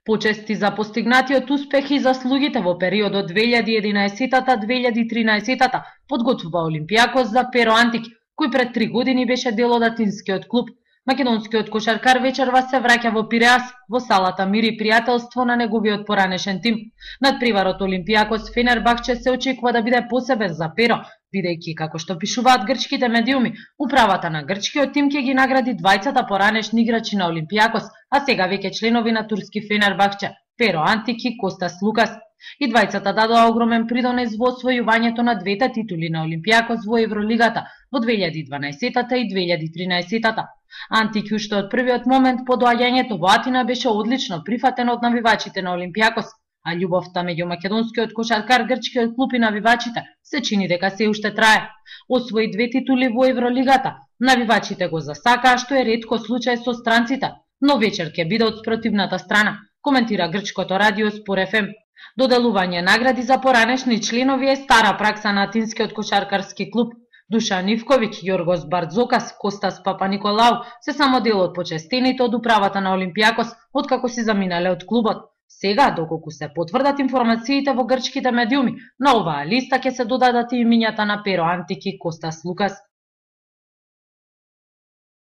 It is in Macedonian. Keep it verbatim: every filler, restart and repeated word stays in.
Почести за постигнатиот успех и заслугите во периодот две илјади и единаесетта - две илјади и тринаесетта подготвува Олимпијакос за Pero Антик, кој пред три години беше дел од атинскиот клуб. Македонскиот кошаркар вечерва се враќа во Пиреас, во салата мир и пријателство на неговиот поранешен тим. Надпреварот Олимпијакос Фенербахче се очекува да биде посебен за Pero, бидејќи, како што пишуваат грчките медиуми, управата на грчкиот тим ќе ги награди двајцата поранешни играчи на Олимпијакос, а сега веќе членови на турски Фенербахче, Pero Антик и Костас Лукас. И двајцата дадоа огромен придонес во освојувањето на двете титули на Олимпијакос во Евролигата во две илјади и дванаесетта и две илјади и тринаесетта. Антик уште од првиот момент по доаѓањето во Атина беше одлично прифатен од навивачите на Олимпијакос, а љубовта меѓу македонскиот кошаркар, грчкиот клуб и навивачите се чини дека се уште трае. Освои две титули во Евролигата. Навивачите го засакаа, што е ретко случај со странците, но вечер ќе биде од спротивната страна, коментира грчкото радио Спор еф ем. Доделување награди за поранешни членови е стара пракса на атинскиот кошаркарски клуб. Душан Ивковиќ, Јоргос Бардзокас, Костас Папаниколау се само дел од почестените од управата на Олимпијакос откако си заминале од клубот. Сега, доколку се потврдат информациите во грчките медиуми, на оваа листа ќе се додадат и имињата на Pero Антик и Костас Лукас.